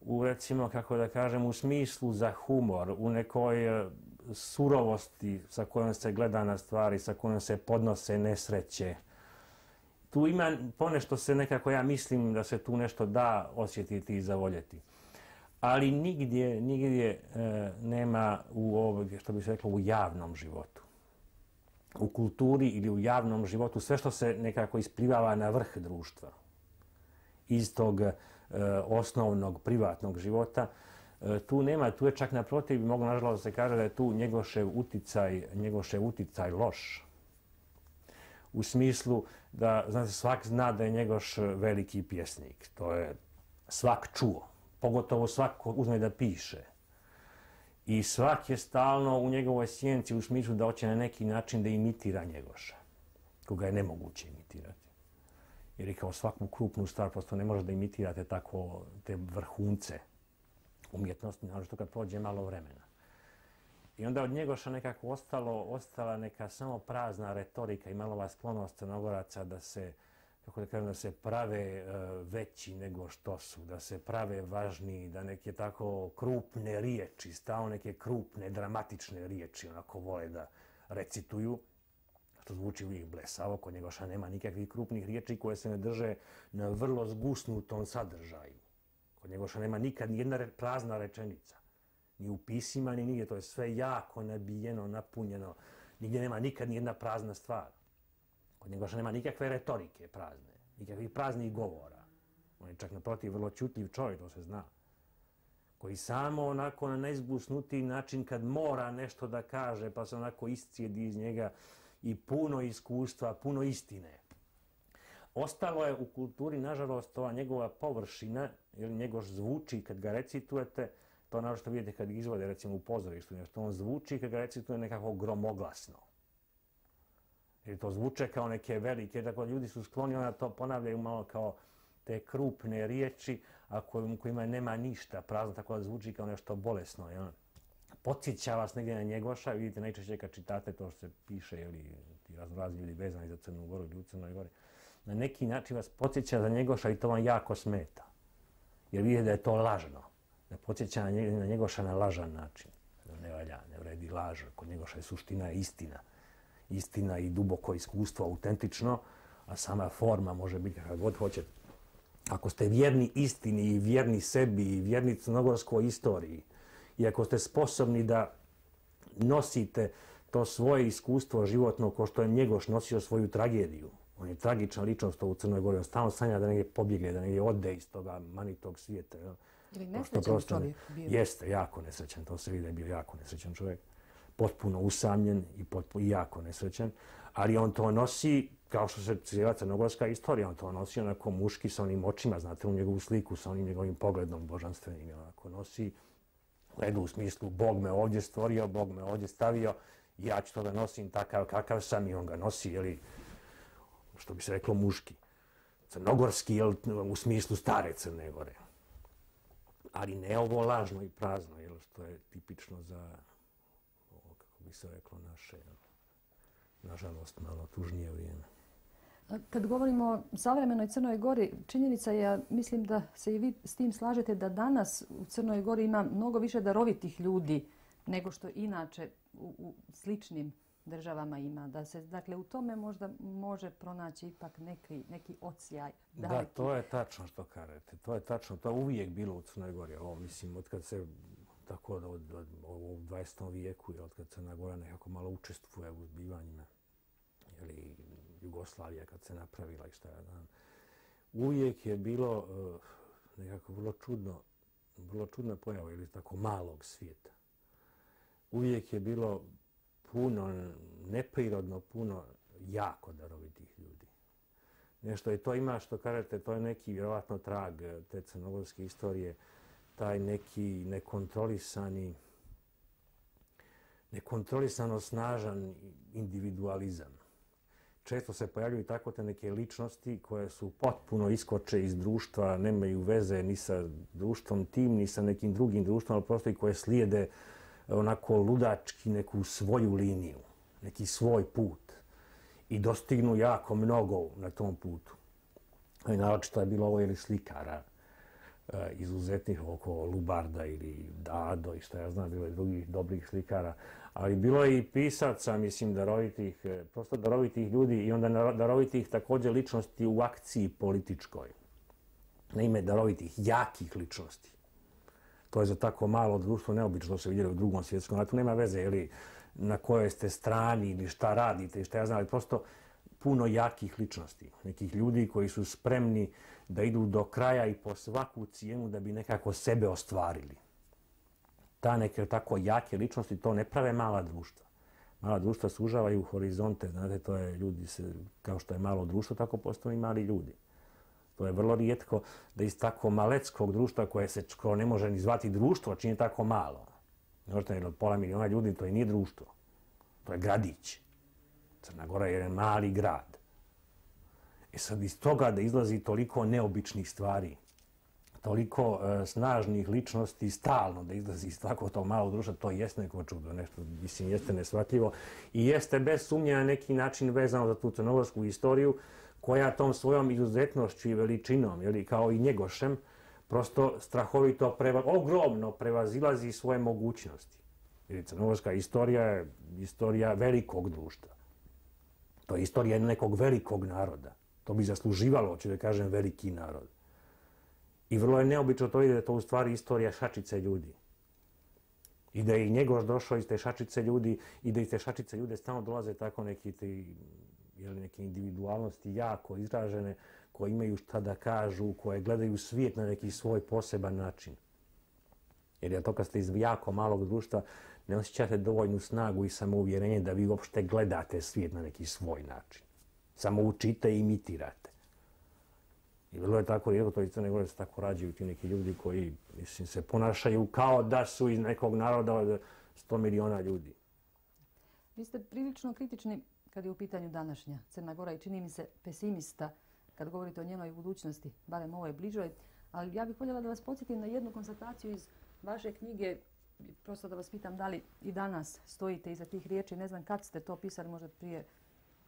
u recimo, kako da kažem, u smislu za humor, u nekoj surovosti sa kojom se gleda na stvari, sa kojom se podnose nesreće. Tu ima ponešto se nekako, ja mislim da se tu nešto da osjetiti i zavoljeti. Ali nigdje, nigdje e, nema u ovog, što bi se reklo, u javnom životu. U kulturi ili u javnom životu, sve što se nekako isplivava na vrh društva. Iz tog osnovnog privatnog života, tu nema, tu je čak naprotiv, mogu nažalost se kaže da je tu Njegošev uticaj, Njegošev uticaj loš. U smislu da, znate, svak zna da je Njegoš veliki pjesnik. To je svak čuo, pogotovo svak ko uzme da piše. I svak je stalno u njegovoj sjenci u smislu da hoće na neki način da imitira Njegoša, koga je nemoguće imitirati. Jer je kao svaku krupnu stvar, prosto ne može da imitirate tako te vrhunce umjetnosti, naravno kad prođe malo vremena. I onda od Njegoša nekako ostalo, ostala neka samo prazna retorika i malova sklonost Crnogoraca da se, kako da kažem, da se prave uh, veći nego što su, da se prave važniji, da neke tako krupne riječi, stalno neke krupne, dramatične riječi onako vole da recituju. Što zvuči uvijek blesavo, kod Njegoša nema nikakvih krupnih riječi koje se ne drže na vrlo zgusnutom sadržaju. Kod Njegoša nema nikad nijedna prazna rečenica. Ni u pisima, ni nigdje. To je sve jako nabijeno, napunjeno. Nigdje nema nikad nijedna prazna stvar. Kod Njegoša nema nikakve retorike prazne, nikakvih praznih govora. On je čak naprotiv vrlo čutljiv čovjek, to se zna. Koji samo onako na najzgusnutiji način kad mora nešto da kaže, pa se onako iscijedi iz njega i puno iskustva, puno istine. Ostalo je u kulturi, nažalost, ova njegova površina, jer Njegoš zvuči kad ga recitujete, to naravno što vidite kad ga izvode, recimo u pozorištu, što on zvuči kad ga recituje nekako gromoglasno. Jer to zvuče kao neke velike, tako ljudi su skloni, ona to ponavljaju malo kao te krupne riječi, a u kojima nema ništa, prazno, tako da zvuči kao nešto bolesno. Jel? Podsjeća vas negdje na Njegoša, vidite najčešće kad čitate to što se piše, ili ti raznorazni ljudi vezani za Crnu Goru ili u Crnoj Gori, na neki način vas podsjeća za Njegoša i to vam jako smeta. Jer vidite da je to lažno. Da podsjeća na Njegoša na lažan način. Ne valja, ne vredi laž. Kod Njegoša je suština istina. Istina i duboko iskustvo, autentično, a sama forma može biti kakva god hoćete. Ako ste vjerni istini i vjerni sebi i vjerni crnogorskoj istoriji i ako ste sposobni da nosite to svoje iskustvo životno ko što je Njegoš nosio svoju tragediju, on je tragična ličnost u Crnoj Gori, on stalno sanja da negdje pobjegne, da negdje ode iz toga manitog svijeta. Ili nesrećan čovjek bio? Jeste, jako nesrećan, to se vidi da je bio jako nesrećan čovjek. Potpuno usamljen i, potpuno, i jako nesrećan, ali on to nosi, kao što se cijela crnogorska istorija, on to nosi onako muški sa onim očima, znate, u njegovu sliku, sa onim njegovim pogledom božanstvenim, onako nosi, gledu u smislu, Bog me ovdje stvorio, Bog me ovdje stavio, ja ću to da nosim takav kakav sam i on ga nosi, jeli, što bi se reklo muški. Crnogorski, jel, u smislu stare Crne Gore. Ali ne ovo lažno i prazno, jel, što je tipično za, ovo, kako bi se reklo, naše, nažalost, malo tužnije vrijeme. Kad govorimo o savremenoj Crnoj Gori, činjenica je, ja mislim da se i vi s tim slažete, da danas u Crnoj Gori ima mnogo više darovitih ljudi nego što inače u, u sličnim državama ima. Da se, dakle, u tome možda može pronaći ipak neki, neki odsjaj. Daleki. Da, to je tačno što kažete. To je tačno. To je uvijek bilo u Crnoj Gori. Ovo, mislim, od kad se tako od, od, od, u dvadesetom vijeku, od kad Crna Gora nekako malo učestvuje u zbivanjima, ili Jugoslavija kad se napravila i šta ja znam. Uvijek je bilo uh, nekako vrlo čudno, vrlo čudna pojava ili tako malog svijeta. Uvijek je bilo puno, neprirodno puno jako darovitih ljudi. Nešto je to ima što kažete, to je neki vjerovatno trag te crnogorske istorije, taj neki nekontrolisani, nekontrolisano snažan individualizam. Često se pojavljuju tako te neke ličnosti koje su potpuno iskoče iz društva, nemaju veze ni sa društvom tim, ni sa nekim drugim društvom, ali prosto i koje slijede onako ludački neku svoju liniju, neki svoj put i dostignu jako mnogo na tom putu. I naročito je bilo ovo ili slikara izuzetnih oko Lubarda ili Dado i što ja znam, bilo je drugih dobrih slikara, ali bilo je i pisaca, mislim, darovitih, prosto darovitih ljudi i onda darovitih također ličnosti u akciji političkoj. Na ime darovitih, jakih ličnosti. To je za tako malo društvo neobično se vidjeli u drugom svjetskom ratu. Nema veze ili na kojoj ste strani ili šta radite i šta ja znam, ali prosto puno jakih ličnosti. Nekih ljudi koji su spremni da idu do kraja i po svaku cijenu da bi nekako sebe ostvarili. Ta neke tako jake ličnosti to ne prave mala društva. Mala društva sužavaju horizonte, znate, to je ljudi, se, kao što je malo društvo, tako postoji mali ljudi. To je vrlo rijetko da iz tako maleckog društva koje se ko ne može ni zvati društvo, čini tako malo. Možete jer od pola miliona ljudi, to je nije društvo. To je gradić. Crna Gora je jedan mali grad. I sad iz toga da izlazi toliko neobičnih stvari, toliko uh, snažnih ličnosti stalno da izlazi iz tako to malo društva, to jeste neko čudo, nešto, mislim, jeste nesvatljivo i jeste bez sumnje na neki način vezano za tu crnogorsku istoriju, koja tom svojom izuzetnošću i veličinom, jeli, kao i Njegošem, prosto strahovito, preva, ogromno prevazilazi svoje mogućnosti. Jer crnogorska istorija je istorija velikog društva. To je istorija nekog velikog naroda. To bi zasluživalo, hoću da kažem, veliki narod. I vrlo je neobično to ide da je to u stvari istorija šačice ljudi. I da je i Njegoš došao iz te šačice ljudi i da iz te šačice ljude stalno dolaze tako neki ti, jeli, neke individualnosti jako izražene, koje imaju šta da kažu, koje gledaju svijet na neki svoj poseban način. Jer je to kad ste iz jako malog društva, ne osjećate dovoljnu snagu i samouvjerenje da vi uopšte gledate svijet na neki svoj način. Samo učite i imitirate. I vrlo je tako rijetko, to iz Crne Gore se tako rađaju ti neki ljudi koji, mislim, se ponašaju kao da su iz nekog naroda od sto miliona ljudi. Vi ste prilično kritični kad je u pitanju današnja Crna Gora i čini mi se pesimista kad govorite o njenoj budućnosti, barem ovoj bližoj. Ali ja bih voljela da vas podsjetim na jednu konstataciju iz vaše knjige, prosto da vas pitam da li i danas stojite iza tih riječi. Ne znam kad ste to pisali, možda prije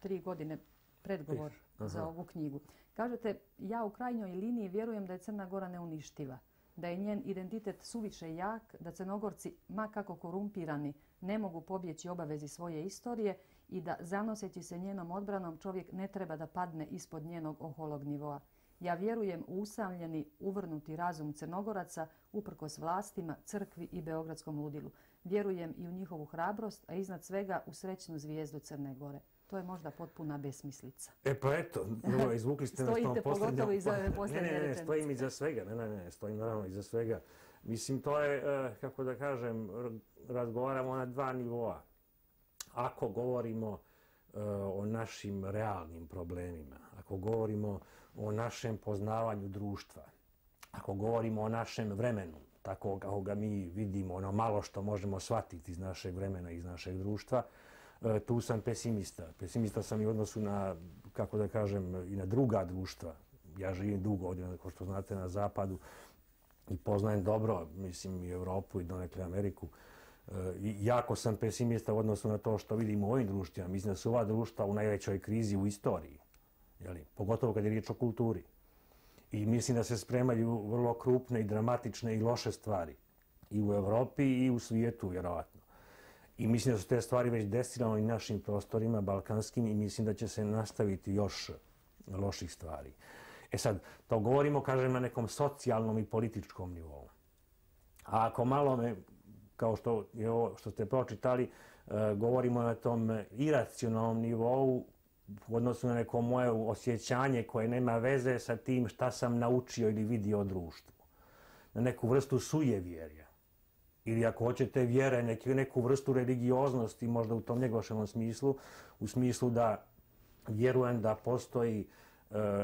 tri godine, predgovor za ovu knjigu. Kažete, ja u krajnjoj liniji vjerujem da je Crna Gora neuništiva, da je njen identitet suviše jak, da Crnogorci, ma kako korumpirani, ne mogu pobjeći obavezi svoje istorije i da zanoseći se njenom odbranom čovjek ne treba da padne ispod njenog oholog nivoa. Ja vjerujem u usamljeni, uvrnuti razum Crnogoraca uprkos vlastima, crkvi i beogradskom ludilu. Vjerujem i u njihovu hrabrost, a iznad svega u srećnu zvijezdu Crne Gore. To je možda potpuna besmislica. E pa eto, no, izvukli ste nas Stojite pogotovo iza ove posljednje rečenice. Ne, ne, ne, rečenice. stojim iza svega. Ne, ne, ne, stojim naravno iza svega. Mislim, to je, kako da kažem, razgovaramo na dva nivoa. Ako govorimo o našim realnim problemima, ako govorimo o našem poznavanju društva, ako govorimo o našem vremenu, tako kako ga mi vidimo, ono malo što možemo shvatiti iz našeg vremena, iz našeg društva, tu sam pesimista. Pesimista sam i u odnosu na, kako da kažem, i na druga društva. Ja živim dugo ovdje, kao što znate, na zapadu i poznajem dobro, mislim, i Europu i donekle Ameriku. I jako sam pesimista u odnosu na to što vidim u ovim društvima. Mislim da su ova društva u najvećoj krizi u istoriji, jeli? Pogotovo kad je riječ o kulturi. I mislim da se spremaju vrlo krupne i dramatične i loše stvari i u Europi i u svijetu, vjerovatno. I mislim da su te stvari već desile i našim prostorima balkanskim i mislim da će se nastaviti još loših stvari. E sad, to govorimo, kažem, na nekom socijalnom i političkom nivou. A ako malo me, kao što je ovo što ste pročitali, govorimo na tom iracionalnom nivou u odnosu na neko moje osjećanje koje nema veze sa tim šta sam naučio ili vidio o društvu. Na neku vrstu sujevjerja. Ili ako hoćete vjere, neku vrstu religioznosti, možda u tom njegoševom smislu, u smislu da vjerujem da postoji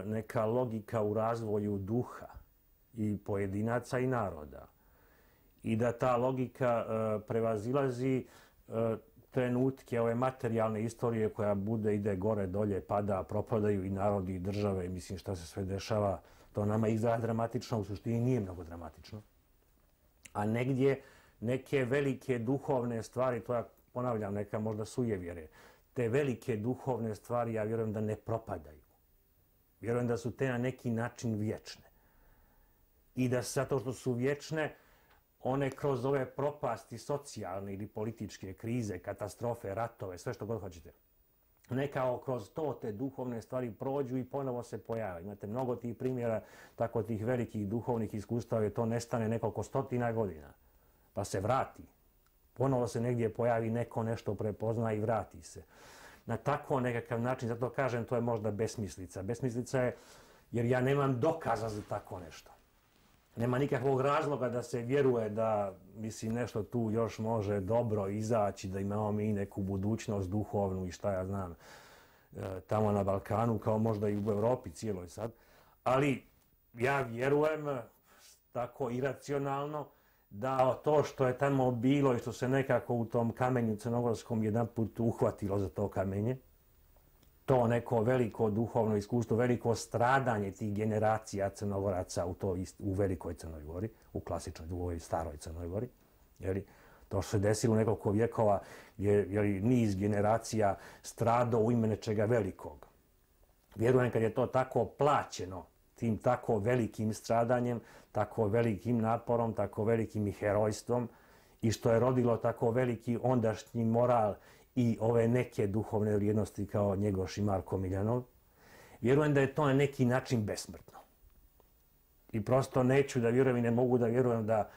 neka logika u razvoju duha i pojedinaca i naroda. I da ta logika prevazilazi trenutke ove materijalne istorije koja bude, ide gore, dolje, pada, propadaju i narodi i države. Mislim šta se sve dešava, to nama izgleda dramatično, u suštini nije mnogo dramatično. A negdje neke velike duhovne stvari, to ja ponavljam, neka možda sujevjere, te velike duhovne stvari ja vjerujem da ne propadaju. Vjerujem da su te na neki način vječne. I da zato što su vječne, one kroz ove propasti socijalne ili političke krize, katastrofe, ratove, sve što god hoćete, nekao kroz to te duhovne stvari prođu i ponovo se pojave. Imate mnogo tih primjera, tako tih velikih duhovnih iskustava, jer to nestane nekoliko stotina godina, pa se vrati. Ponovo se negdje pojavi neko, nešto prepozna i vrati se. Na tako nekakav način, zato kažem, to je možda besmislica. Besmislica je jer ja nemam dokaza za tako nešto. Nema nikakvog razloga da se vjeruje da, mislim, nešto tu još može dobro izaći, da imamo mi neku budućnost duhovnu i šta ja znam, tamo na Balkanu, kao možda i u Europi cijeloj sad. Ali ja vjerujem tako iracionalno da to što je tamo bilo i što se nekako u tom kamenju crnogorskom jedan put uhvatilo za to kamenje, to neko veliko duhovno iskustvo, veliko stradanje tih generacija Crnogoraca u, to, u velikoj Crnoj Gori, u klasičnoj, u ovoj staroj Crnoj Gori. Jeli, to što se desilo nekoliko vjekova je jeli, niz generacija stradao u ime nečega velikog. Vjerujem kad je to tako plaćeno, tim tako velikim stradanjem, tako velikim naporom, tako velikim i herojstvom i što je rodilo tako veliki ondašnji moral i ove neke duhovne vrijednosti kao Njegoš i Marko Miljanov, vjerujem da je to na neki način besmrtno. I prosto neću da vjerujem i ne mogu da vjerujem da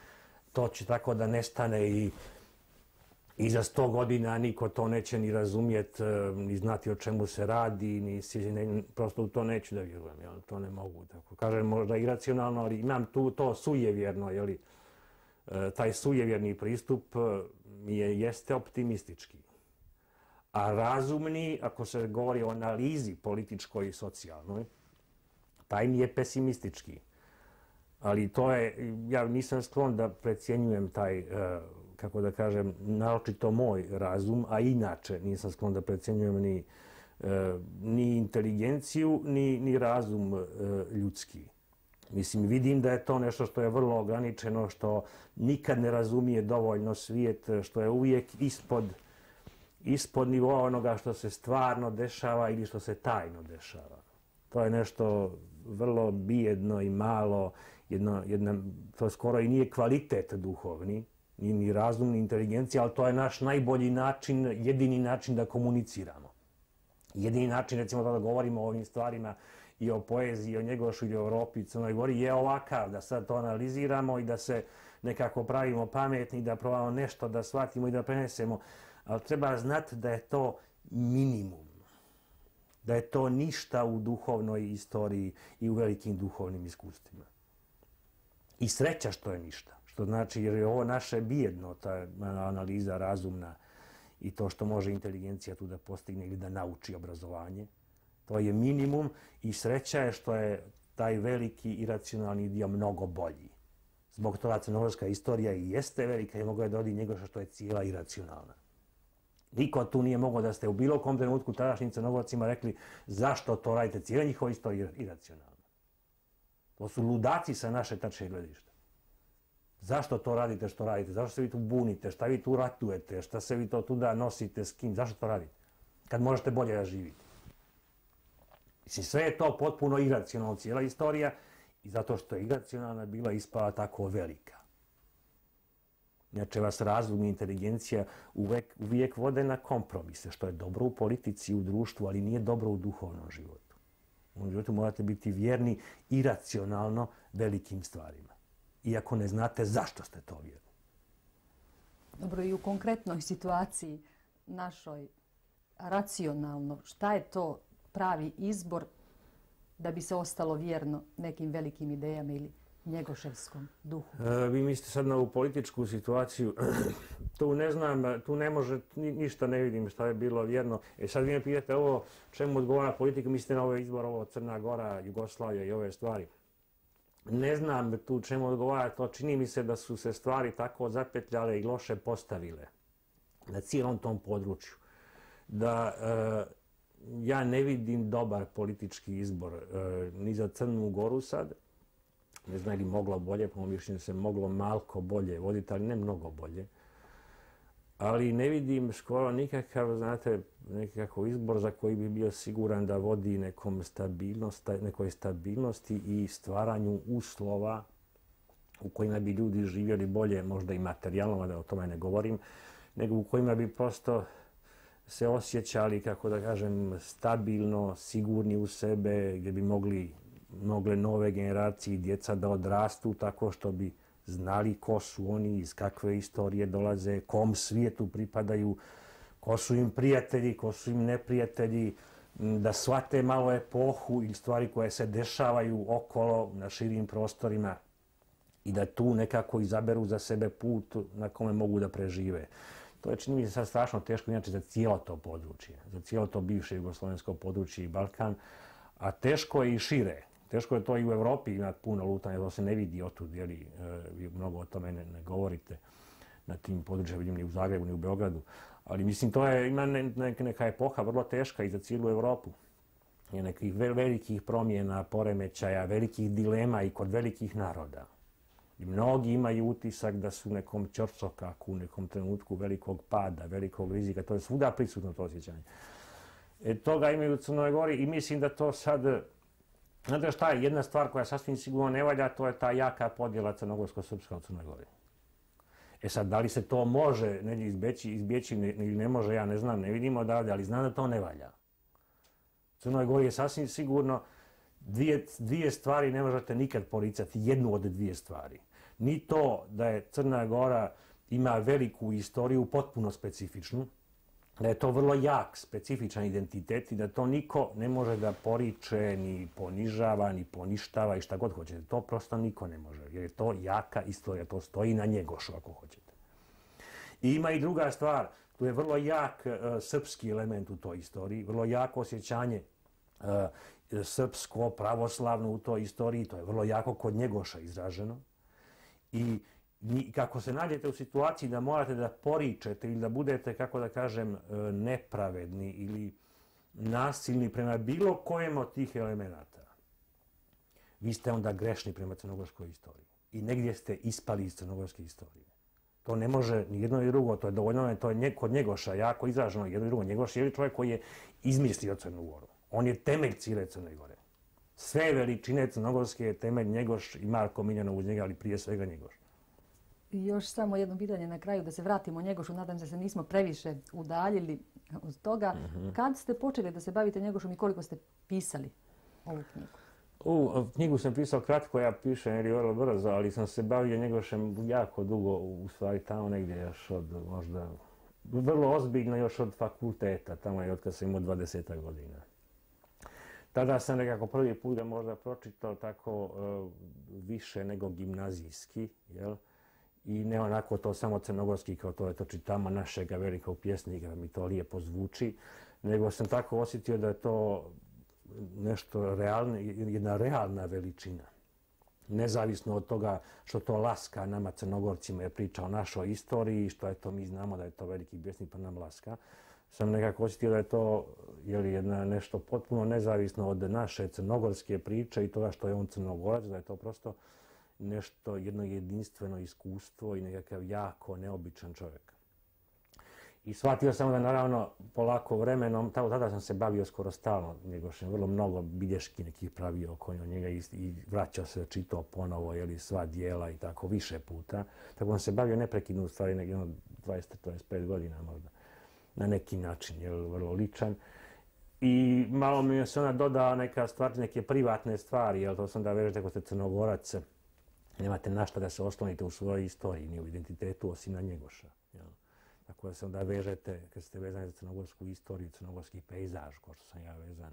to će tako da nestane i, i za sto godina niko to neće ni razumjeti, ni znati o čemu se radi, ni ne, prosto u to neću da vjerujem, jel? To ne mogu. Tako kažem, možda iracionalno, ali imam tu to sujevjerno, jeli? Taj sujevjerni pristup mi je, jeste optimistički. A razumni, ako se govori o analizi političkoj i socijalnoj, taj mi je pesimistički. Ali to je, ja nisam sklon da precjenjujem taj, kako da kažem, naročito moj razum, a inače nisam sklon da precjenjujem ni ni inteligenciju, ni, ni razum ljudski. Mislim, vidim da je to nešto što je vrlo ograničeno, što nikad ne razumije dovoljno svijet, što je uvijek ispod, ispod nivoa onoga što se stvarno dešava ili što se tajno dešava. To je nešto vrlo bijedno i malo, jedno, jedna, to skoro i nije kvalitet duhovni, ni, ni razum, ni inteligencija, ali to je naš najbolji način, jedini način da komuniciramo. Jedini način, recimo, da govorimo o ovim stvarima i o poeziji, o Njegošu i o Europi i Crnoj Gori je ovakav, da sad to analiziramo i da se nekako pravimo pametni, da probamo nešto da shvatimo i da prenesemo. Ali treba znati da je to minimum, da je to ništa u duhovnoj istoriji i u velikim duhovnim iskustvima. I sreća što je ništa, što znači jer je ovo naše bijedno, ta analiza razumna i to što može inteligencija tu da postigne ili da nauči obrazovanje. To je minimum i sreća je što je taj veliki iracionalni dio mnogo bolji. Zbog toga crnogorska istorija i jeste velika i mogo je da odi Njegoša što je cijela iracionalna. Niko tu nije mogao da ste u bilo kom trenutku tadašnjim Crnogorcima rekli zašto to radite, cijela njihova istorija je iracionalna. To su ludaci sa naše tačke gledišta. Zašto to radite što radite? Zašto se vi tu bunite? Šta vi tu ratujete? Šta se vi to tuda nosite? S kim? Zašto to radite? Kad možete bolje da živite. Mislim, sve je to potpuno iracionalno, cijela istorija, i zato što je iracionalna bila ispala tako velika. Inače vas razum i inteligencija uvijek, uvijek vode na kompromise, što je dobro u politici, u društvu, ali nije dobro u duhovnom životu. U životu morate biti vjerni iracionalno velikim stvarima. Iako ne znate zašto ste to vjerni. Dobro, i u konkretnoj situaciji našoj racionalno, šta je to pravi izbor da bi se ostalo vjerno nekim velikim idejama ili njegoševskom duhu? E, vi mislite sad na ovu političku situaciju. Tu ne znam, tu ne može, ni, ništa ne vidim šta je bilo vjerno. E sad vi me pitate ovo, čemu odgovara politika, mislite na ovaj izbor, ovo Crna Gora, Jugoslavija i ove stvari. Ne znam tu čemu odgovara, to čini mi se da su se stvari tako zapetljale i loše postavile na cijelom tom području. Da e, ja ne vidim dobar politički izbor e, ni za Crnu Goru sad. Ne znam li moglo bolje, po mojom mišljenju se moglo malko bolje voditi, ali ne mnogo bolje. Ali ne vidim skoro nikakav, znate, nekakav izbor za koji bi bio siguran da vodi nekom stabilnost, nekoj stabilnosti i stvaranju uslova u kojima bi ljudi živjeli bolje, možda i materijalno, da o tome ne govorim, nego u kojima bi prosto se osjećali, kako da kažem, stabilno, sigurni u sebe, gdje bi mogli, mogle nove generacije i djeca da odrastu tako što bi znali ko su oni, iz kakve istorije dolaze, kom svijetu pripadaju, ko su im prijatelji, ko su im neprijatelji, da shvate malo epohu ili stvari koje se dešavaju okolo na širim prostorima i da tu nekako izaberu za sebe put na kome mogu da prežive. To je, čini mi se, sad strašno teško inače za cijelo to područje, za cijelo to bivše jugoslovensko područje i Balkan, a teško je i šire. Teško je to i u Evropi imati puno lutanja, to se ne vidi otud, jer vi mnogo o tome ne, ne govorite na tim područjima, vidim ni u Zagrebu, ni u Beogradu. Ali mislim, to je, ima ne, ne, neka epoha vrlo teška i za cijelu Evropu. Je nekih velikih promjena, poremećaja, velikih dilema i kod velikih naroda. I mnogi imaju utisak da su u nekom ćorsokaku, u nekom trenutku velikog pada, velikog rizika. To je svuda prisutno to osjećanje. E, toga imaju u Crnoj Gori i mislim da to sad... Znate šta je jedna stvar koja sasvim sigurno ne valja, to je ta jaka podjela crnogorsko-srpska u Crnoj Gori. E sad, da li se to može negdje izbjeći, izbjeći ili ne može, ja ne znam, ne vidimo odavde, ali znam da to ne valja. U Crnoj Gori je sasvim sigurno dvije, dvije stvari ne možete nikad poricati, jednu od dvije stvari. Ni to da je Crna Gora ima veliku istoriju, potpuno specifičnu, da je to vrlo jak, specifičan identitet i da to niko ne može da poriče, ni ponižava, ni poništava i šta god hoćete. To prosto niko ne može, jer je to jaka istorija, to stoji na Njegošu ako hoćete. I ima i druga stvar, tu je vrlo jak uh, srpski element u toj istoriji, vrlo jako osjećanje uh, srpsko, pravoslavno u toj istoriji, to je vrlo jako kod Njegoša izraženo. I kako se nađete u situaciji da morate da poričete ili da budete, kako da kažem, nepravedni ili nasilni prema bilo kojem od tih elemenata, vi ste onda grešni prema crnogorskoj istoriji. I negdje ste ispali iz crnogorske istorije. To ne može ni jedno ni drugo, to je dovoljno, to je kod Njegoša jako izraženo jedno i drugo. Njegoš je čovjek koji je izmislio Crnu Goru. On je temelj cijele Crne Gore. Sve veličine crnogorske je temelj Njegoš i Marko Miljanov uz njega, ali prije svega Njegoš. I još samo jedno pitanje na kraju, da se vratimo Njegošu, nadam se da se nismo previše udaljili od toga. Uh-huh. Kad ste počeli da se bavite Njegošom i koliko ste pisali ovu knjigu? U knjigu sam pisao kratko, ja pišem jer je vrlo brzo, ali sam se bavio Njegošem jako dugo, u stvari tamo negdje još od možda, vrlo ozbiljno još od fakulteta, tamo je od kad sam imao dvadeset godina. Tada sam nekako prvi put ga možda pročitao tako uh, više nego gimnazijski, jel? I ne onako to samo crnogorski kao to je to čitama našega velikog pjesnika, da mi to lijepo zvuči, nego sam tako osjetio da je to nešto realno, jedna realna veličina. Nezavisno od toga što to laska nama Crnogorcima je priča o našoj istoriji, što je to mi znamo da je to veliki pjesnik pa nam laska, sam nekako osjetio da je to jeli, jedna, nešto potpuno nezavisno od naše crnogorske priče i toga što je on Crnogorac, da je to prosto nešto, jedno jedinstveno iskustvo i nekakav jako neobičan čovjek. I shvatio sam da naravno polako vremenom, tada sam se bavio skoro stalno Njegošem, vrlo mnogo bilješki nekih pravio oko njega i, i vraćao se, čitao ponovo, jeli, sva dijela i tako više puta. Tako sam se bavio neprekidno u stvari nekih dvadeset do dvadeset pet godina možda, na neki način, jel, vrlo ličan. I malo mi se ona dodao neka stvar, neke privatne stvari, jel, to sam da vežete ako ste Crnogorac, nemate na šta da se oslonite u svojoj istoriji, ni u identitetu, osim na Njegoša. Jel. Tako da se onda vežete, kad ste vezani za crnogorsku istoriju, crnogorski pejzaž, kao što sam ja vezan,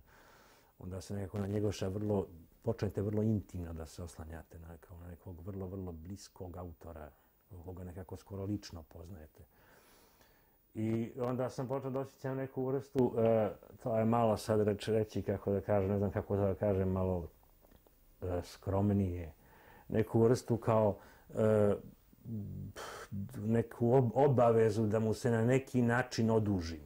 onda se nekako na Njegoša vrlo, počnete vrlo intimno da se oslanjate na, kao na nekog vrlo, vrlo bliskog autora, koga nekako skoro lično poznajete. I onda sam počeo da osjećam neku vrstu, e, to je malo sad reći, reći kako da kažem, ne znam kako da kažem, malo e, skromnije, neku vrstu kao e, neku obavezu da mu se na neki način odužim.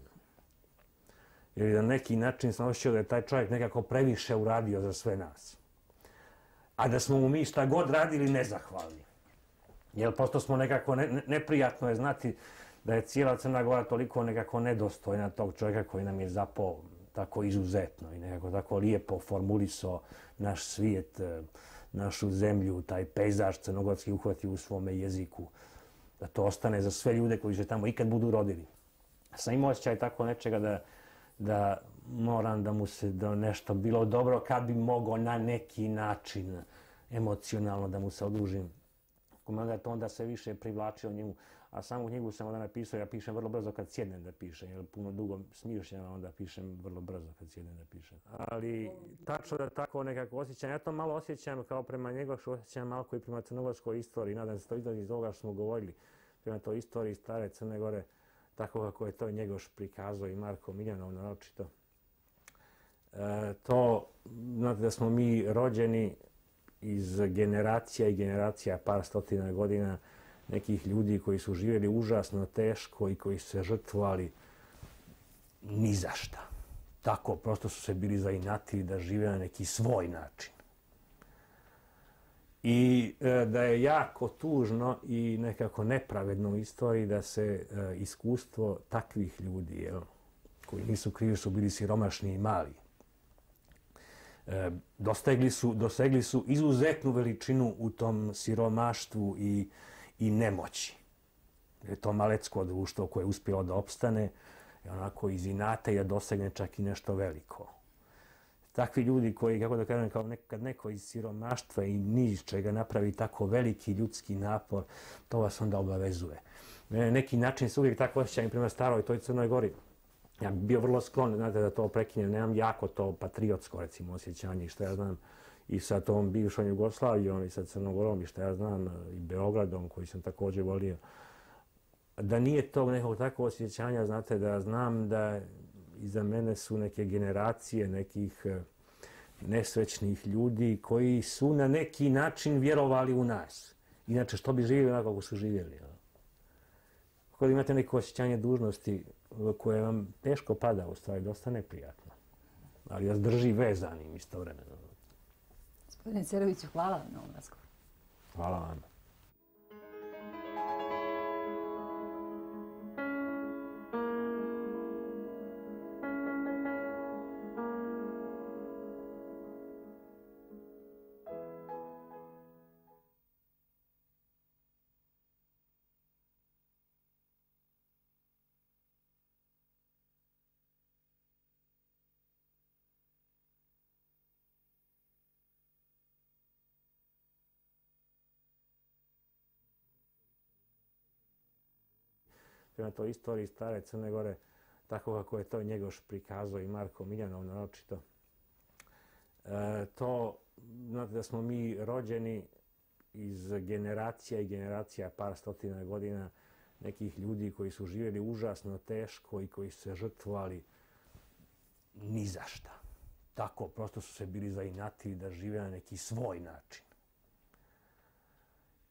Ili na neki način sam osjećao da je taj čovjek nekako previše uradio za sve nas. A da smo mu mi šta god radili nezahvalni. Jer posto smo nekako, ne, neprijatno je znati da je cijela Crna Gora toliko nekako nedostojna tog čovjeka koji nam je zapao tako izuzetno i nekako tako lijepo formulisao naš svijet, našu zemlju, taj pejzaž crnogorski uhvatio u svome jeziku, da to ostane za sve ljude koji se tamo ikad budu rodili. Sam imao osjećaj tako nečega da, da moram da mu se da nešto bilo dobro kad bi mogao na neki način emocionalno da mu se odužim. Kolega to onda sve više privlačio njemu, a samu knjigu sam onda napisao, ja pišem vrlo brzo kad sjednem da pišem, jer puno dugo smišljam, onda pišem vrlo brzo kad sjednem da pišem. Ali tačno da tako nekako osjećam, ja to malo osjećam kao prema Njegošu, osjećam malo i prema crnogorskoj istoriji, nadam se to izlazi iz ovoga što smo govorili, prema toj istoriji stare Crne Gore, tako kako je to Njegoš prikazao i Marko Miljanov naročito. E, to, znate da smo mi rođeni iz generacija i generacija, par stotina godina, nekih ljudi koji su živjeli užasno teško i koji su se žrtvovali ni za šta. Tako, prosto su se bili zainatili da žive na neki svoj način. I e, da je jako tužno i nekako nepravedno u istoriji da se e, iskustvo takvih ljudi, jel, koji nisu krivi, su bili siromašni i mali, e, dostegli su, dosegli su izuzetnu veličinu u tom siromaštvu i i nemoći. Je to malecko društvo koje je uspjelo da opstane i onako iz inata i da dosegne čak i nešto veliko. Takvi ljudi koji, kako da kažem, kao nekad neko iz siromaštva i niz čega napravi tako veliki ljudski napor, to vas onda obavezuje. Na neki način se uvijek tako osjećam i prema staroj toj Crnoj Gori. Ja bih bio vrlo sklon, znate, da to prekinem, nemam jako to patriotsko, recimo, osjećanje i što ja znam, i sa tom bivšom Jugoslavijom i sa Crnogorom i što ja znam i Beogradom koji sam također volio. Da nije tog nekog takvog osjećanja, znate, da znam da iza mene su neke generacije nekih nesrećnih ljudi koji su na neki način vjerovali u nas. Inače, što bi živjeli onako kako su živjeli. Kada imate neko osjećanje dužnosti koje vam teško pada, u stvari, dosta neprijatno. ali vas drži vezanim istovremeno. Gospodine Ceroviću, hvala vam na ovom razgovoru. Hvala vam. Prema toj istoriji stare Crne Gore, tako kako je to Njegoš prikazao i Marko Miljanov naročito. E, to, znate da smo mi rođeni iz generacija i generacija, par stotina godina, nekih ljudi koji su živjeli užasno teško i koji su se žrtvovali ni za šta. Tako, prosto su se bili zainatili da žive na neki svoj način.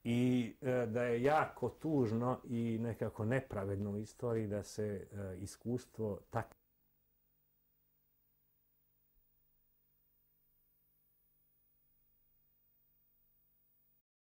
I e, da je jako tužno i nekako nepravedno u istoriji da se e, iskustvo tak